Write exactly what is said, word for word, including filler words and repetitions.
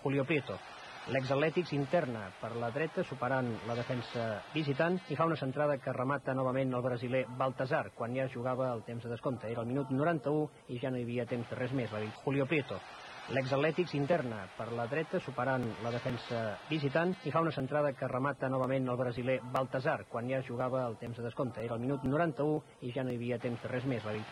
Julio Prieto. L'exatlètic s'interna per la dreta, superant la defensa visitant, i fa una centrada que remata novament el brasiler Baltasar, quan ja jugava el temps de descompte. Era el minut noranta-u i ja no hi havia temps de res més, va dir Julio Prieto. L'exatlètic s'interna per la dreta, superant la defensa visitant, i fa una centrada que remata novament el brasiler Baltasar, quan ja jugava el temps de descompte. Era el minut noranta-u i ja no hi havia temps de res més, va dir